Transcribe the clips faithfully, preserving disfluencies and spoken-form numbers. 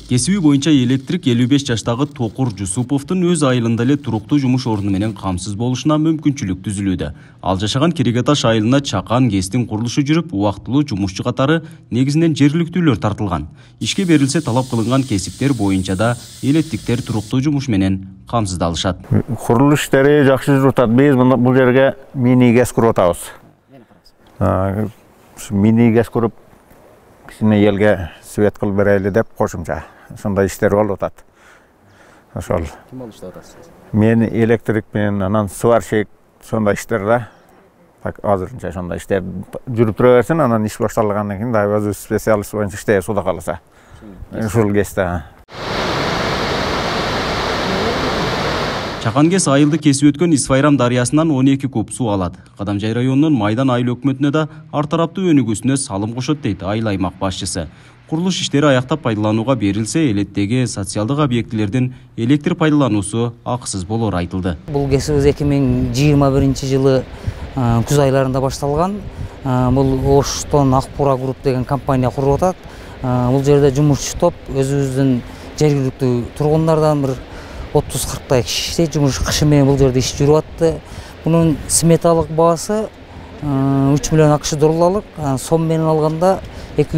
Кесиби боюнча электрик элүү беш жаштагы Токур Жусуповдун өз айылында эле туруктуу жумуш орду менен камсыз болушуна мүмкүнчүлүк түзүлүүдө. Ал жашаган Керегеташ айылына чакан ГЭСтин курулушу жүрүп, убактылуу жумушчу катары негизинен жергиликтүүлөр тартылган. Ишке берилсе талап кылынган кесиптер боюнча да элеттиктер туруктуу жумуш менен камсыздалышат. Курулуш иштери жакшы жүрүп атат. Биз бул жерге мини ГЭС куруп атабыз. Мини ГЭС куруп кичине элге свет кылып берели деп кошумча сондай иштер болуп атат. Ошол. Ким болуп иштеп атасыз? Мен электрик менен анан сварщик сондай иштер да. Так азырынча сондай иштер жүрүп тура берсин, анан иш башталгандан кийин да өзү специалист боюнча иштей суда калса. Ушул ГЭСте. Чакан ГЭС айылды кесип өткөн Исфайрам дарыясынан он эки куб суу алат. Кадамжай районунун Майдан айыл өкмөтүнө да ар тараптуу өнүгүүсүнө салым кошот дейт айыл аймак башчысы. Курулуш иштери аяктап пайдаланууга берилсе, элеттеги социалдык объектилердин электр пайдалануусу акысыз болор айтылды. Бул кесибиз эки миң жыйырма биринчи жылы күз айларында башталган. Бул Оштон Акбура групп деген компания куруп атат. Бул жерде жумушчу топ өзүбүздүн жергиликтүү тургундардан бир отуз кырктай киши иштейт. Жумуш кышы менен бул жерде иш жүрүп атты. Бунун сметалык баасы үч миллион акш долларлык, сом менен алганда эки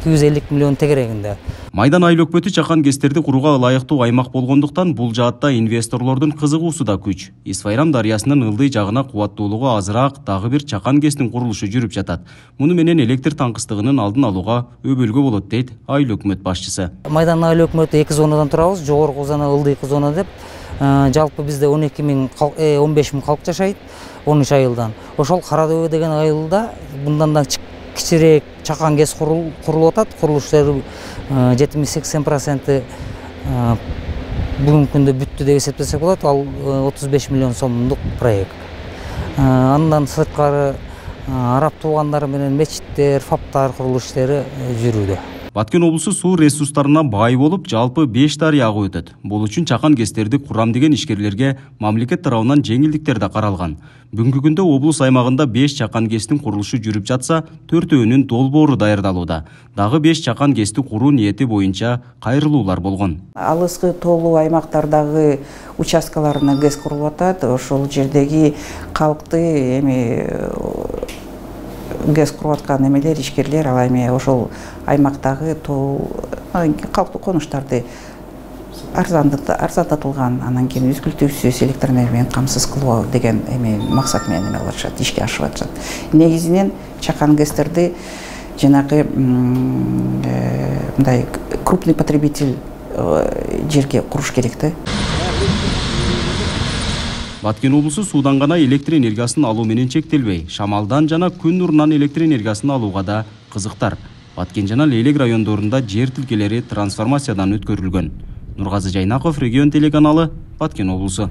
жүз элүү миллион тегерегинде. Майдан айыл өкмөтү чакан ГЭСтерди курууга ылайыктуу аймак болгондуктан бул жаатта инвесторлордун кызыгуусу да күч. Исфайрам дарыясынын ылдый жагына кубаттуулугу азыраак дагы бир чакан ГЭСтин курулушу жүрүп жатат. Муну менен электр таңкыстыгынын алдын алууга өбөлгө болот дейт айыл өкмөт башчысы. Майдан айыл өкмөтү эки зонадан турабыз, жогорку зона, ылдыйкы зона деп. Жалпы бизде он эки миң он беш миң калк жашайт, он үч айылдан. Ошол Кара Дөбө деген айылда мындан да кичирээк чакан ГЭС курулуп атат. Курулуштары жетимиш сексен проценти бүгүнкү күндө бүттү деп эсептесек болот. Ал отуз беш миллион сомдук проект. Андан сырткары араб туугандары менен мечиттер, фаптар курулуш иштери жүрүүдө. Баткен облусу суу ресурстарына бай болуп, жалпы беш дарыя агып өтөт. Бул үчүн чакан ГЭСтерди курам деген ишкерлерге мамлекет тарабынан жеңилдиктер да каралган. Бүгүнкү күндө облус аймагында беш чакан ГЭСтин курулушу жүрүп жатса, төртөөнүн долбоору даярдалууда. Дагы беш чакан ГЭСти куруу ниети боюнча кайрылуулар болгон. Алыскы тоолуу аймактардагы участкаларына ГЭС курулуп атат. Ошол жердеги калкты эми ГЭС куруп аткан эмелер, ишкерлер ал эми ошол аймактагы тоо калктуу конуштарды арзандатылган, анан кийин үзгүлтүүсүз электр энергия менен камсыз кылуу деген эми максат менен эме кылып атышат, ишке ашып атышат. Негизинен чакан ГЭСтерди жанагы мындай крупный потребитель жерге куруш керек да. Баткен облусу суудан гана электр энергиясын алуу менен чектелбей, шамалдан жана күн нурунан электр энергиясын алууга да кызыктар. Баткен жана Лейлек райондорунда жер тилкелери трансформациядан өткөрүлгөн. Нургазы Жайнаков, Регион телеканалы, Баткен облусу.